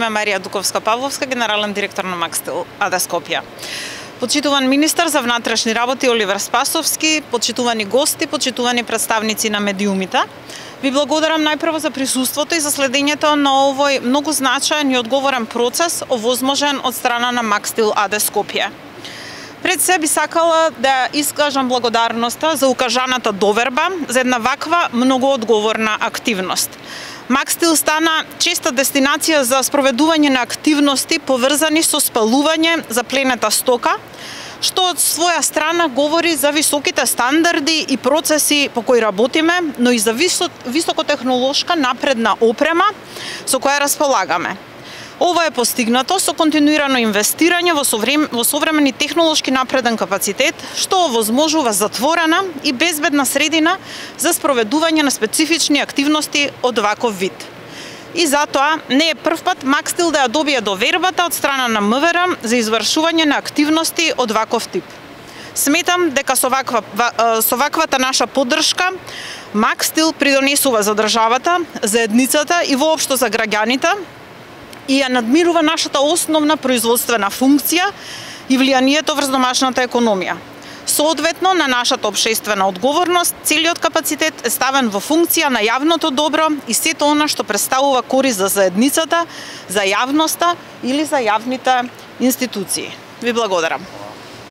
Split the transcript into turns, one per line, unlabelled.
име Марија Дуковска-Павловска, генерален директор на Макстил АД Скопје. Почитуван министар за внатрешни работи Оливер Спасовски, почитувани гости, почитувани представници на медиумите. Ви благодарам најпрво за присуството и за следењето на овој многу значаен и одговорен процес овозможен од страна на Макстил АД Скопје. Пред се би сакала да искажам благодарноста за укажаната доверба за една ваква многу одговорна активност. Макстил стана честа дестинација за спроведување на активности поврзани со спалување за пленета стока, што од своја страна говори за високите стандарди и процеси по кои работиме, но и за високотехнолошка напредна опрема со која располагаме. Ова е постигнато со континуирано инвестирање во современи технолошки напреден капацитет, што овозможува затворена и безбедна средина за спроведување на специфични активности од ваков вид. И затоа не е првпат Макстил да ја добие довербата од страна на МВР за извршување на активности од ваков тип. Сметам дека со ваквата наша поддршка Макстил придонесува за државата, заедницата и воопшто за граѓаните, и ја надмирува нашата основна производствена функција и влијанието врз домашната економија. Соодветно на нашата општествена одговорност, целиот капацитет е ставен во функција на јавното добро и сето она што представува корист за заедницата, за јавноста или за јавните институции. Ви благодарам.